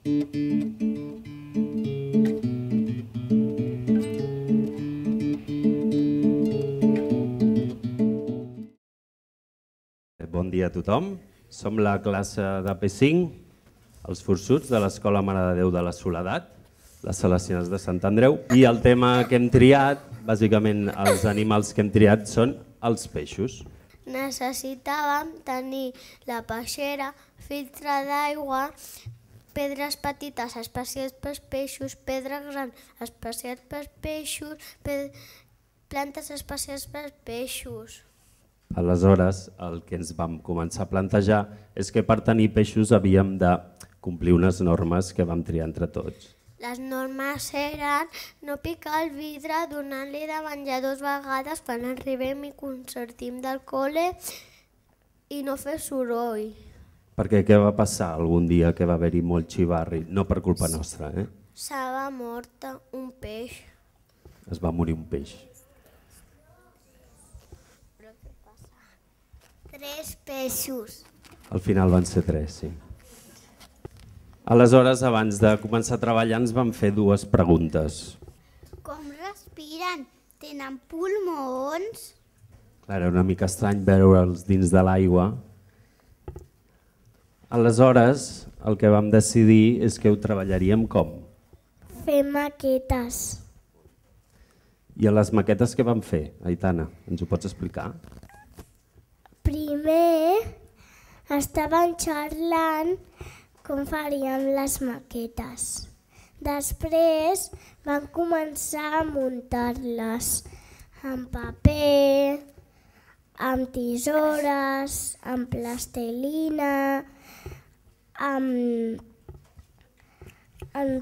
Bon dia a tothom. Som la classe de P5, els forçuts de l'Escola Mare de Déu de la Soledat, les Salesianes de Sant Andreu, i el tema que hem triat, bàsicament els animals que hem triat són els peixos. Necessitàvem tenir la peixera, filtre d'aigua, pedres petites especials pels peixos, pedres grans especials pels peixos, plantes especials pels peixos. Aleshores, el que ens vam començar a plantejar és que per tenir peixos havíem de complir unes normes que vam triar entre tots. Les normes eren no picar el vidre, donar-li de menjar 2 vegades quan arribem i sortim del col·le i no fer soroll. Perquè què va passar algun dia que va haver-hi molt xivarri? No per culpa nostra, eh? Se va mort un peix. Es va morir un peix. 3 peixos. Al final van ser 3, sí. Aleshores, abans de començar a treballar, ens vam fer 2 preguntes. Com respiren? Tenen pulmons? Clar, era una mica estrany veure'ls dins de l'aigua. Aleshores, el que vam decidir és que ho treballaríem com? Fer maquetes. I a les maquetes què vam fer, Aitana? Ens ho pots explicar? Primer estaven xerrant com faríem les maquetes. Després van començar a muntar-les amb paper, amb tisores, amb plastilina, amb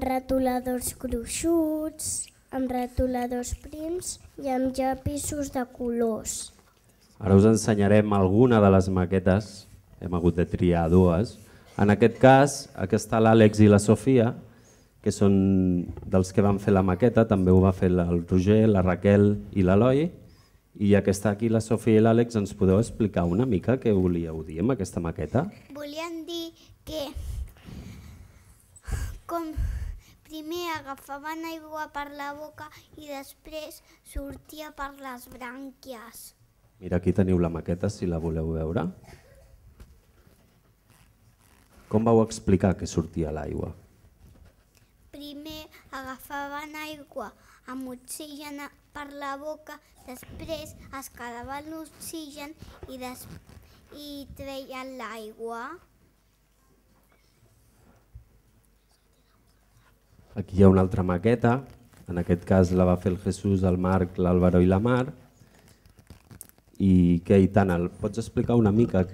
retoladors gruixuts, amb retoladors prims i amb llapisos de colors. Ara us ensenyarem alguna de les maquetes, hem hagut de triar 2. En aquest cas, aquí està l'Àlex i la Sofia, que són dels que van fer la maqueta, també ho va fer el Roger, la Raquel i l'Eloi, i ja que està aquí la Sofia i l'Àlex, ens podeu explicar una mica què volíeu dir amb aquesta maqueta? Volien dir que com primer agafaven aigua per la boca i després sortia per les brànquies. Mira, aquí teniu la maqueta, si la voleu veure. Com vau explicar que sortia l'aigua? Primer agafaven aigua amb oxigen per la boca, després es quedaven l'oxigen i treien l'aigua. Aquí hi ha una altra maqueta, en aquest cas la va fer el Jesús, el Marc, l'Àlvaro i la Mar. I què, Aitana, pots explicar una mica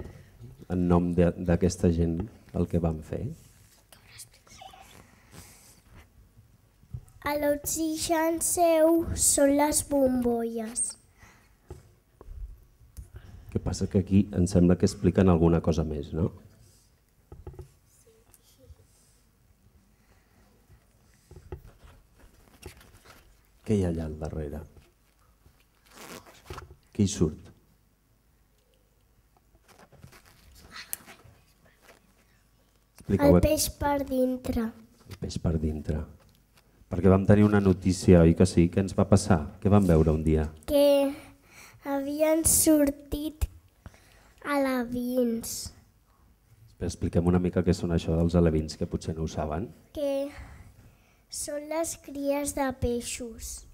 en nom d'aquesta gent el que van fer? L'oxigen seu són les bombolles. Què passa que aquí em sembla que expliquen alguna cosa més, no? Què hi ha allà al darrere? Què hi surt? El peix per dintre. El peix per dintre. Perquè vam tenir una notícia, oi que sí? Què ens va passar? Què vam veure un dia? Que havien sortit alevins. Expliquem una mica què són això dels alevins, que potser no ho saben. Que són les cries de peixos.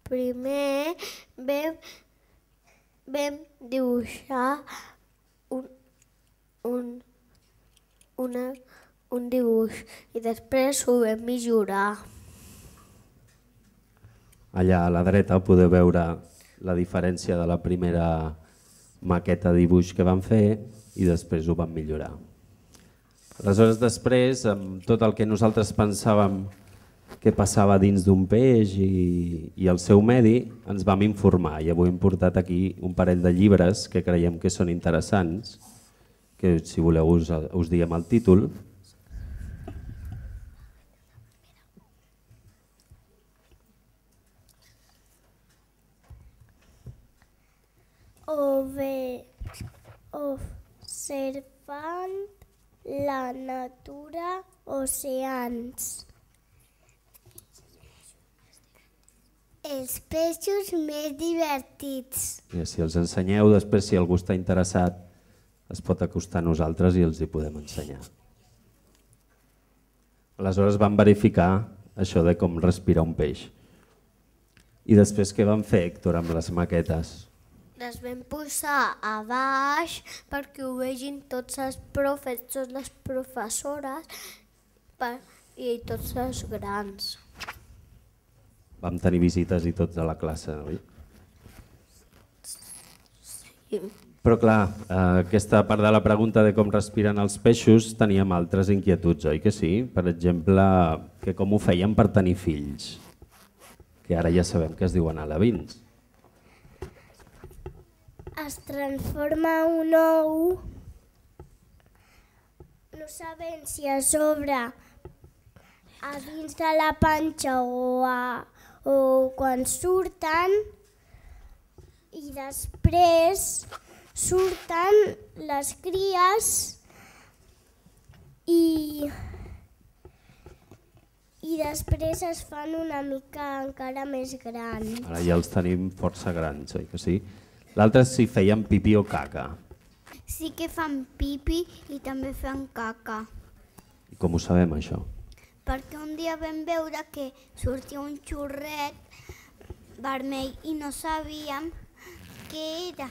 Primer vam dibuixar un dibuix i després ho vam millorar. Allà a la dreta podeu veure la diferència de la primera maqueta de dibuix que vam fer i després ho vam millorar. Aleshores, després, amb tot el que nosaltres pensàvem que passava dins d'un peix i el seu medi, ens vam informar i avui hem portat aquí un parell de llibres que creiem que són interessants, que si voleu us diem el títol. observant la natura, oceans. Els peixos més divertits. I si els ensenyeu, després si algú està interessat es pot acostar a nosaltres i els hi podem ensenyar. Aleshores vam verificar això de com respirar un peix. I després què van fer, Héctor, amb les maquetes? Les vam posar a baix perquè ho vegin tots els profes, totes les professores i tots els grans. Vam tenir visites i tots a la classe, oi? Sí. Però clar, aquesta part de la pregunta de com respiren els peixos teníem altres inquietuds, oi que sí? Per exemple, que com ho feien per tenir fills, que ara ja sabem que es diuen alevins. Es transforma un ou, no sabem si a sobre, a dins de la panxa o quan surten, i després surten les cries i després es fan una mica encara més grans. Ara ja els tenim força grans, oi que sí? L'altre és si feien pipí o caca. Sí que fan pipi i també fan caca. I com ho sabem, això? Perquè un dia vam veure que sortia un xurret vermell i no sabíem què era.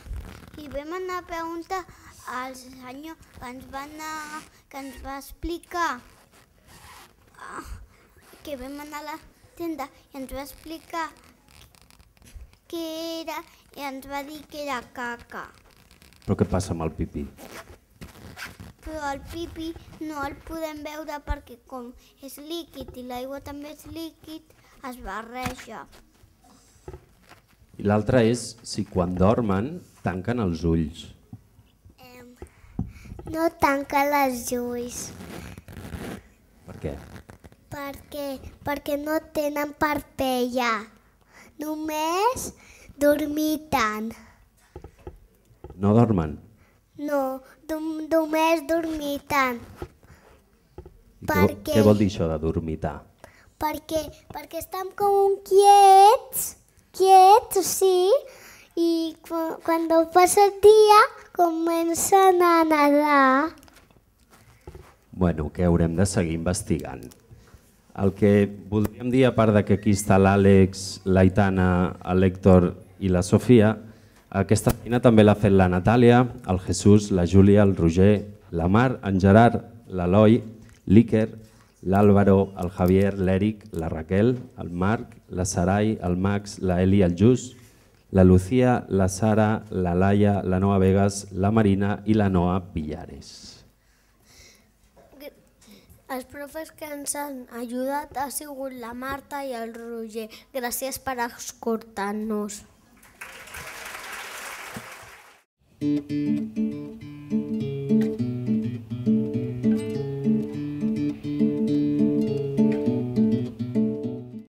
I vam anar a preguntar al senyor que ens va explicar, que vam anar a la tenda i ens va explicar què era i ens va dir que era caca. Però què passa amb el pipí? Però el pipi no el podem veure perquè com és líquid i l'aigua també és líquid, es barreja. I l'altre és si quan dormen tanquen els ulls. No tanquen els ulls. Per què? Perquè no tenen parpella. Només dormiten. No dormen? No, només dormiten. Què vol dir això de dormitar? Perquè estan com quiets, sí, i quan passa el dia comencen a nedar. Bueno, que haurem de seguir investigant. El que voldríem dir, a part de que aquí està l'Àlex, l'Aitana, l'Héctor i la Sofia, aquesta feina també l'ha fet la Natàlia, el Jesús, la Júlia, el Roger, la Mar, en Gerard, l'Eloi, l'Iker, l'Àlvaro, el Javier, l'Eric, la Raquel, el Marc, la Sarai, el Max, la Eli, el Jus, la Lucía, la Sara, la Laia, la Noa Vegas, la Marina i la Noa Villares. Els profes que ens han ajudat ha sigut la Marta i el Roger. Gràcies per escoltar-nos.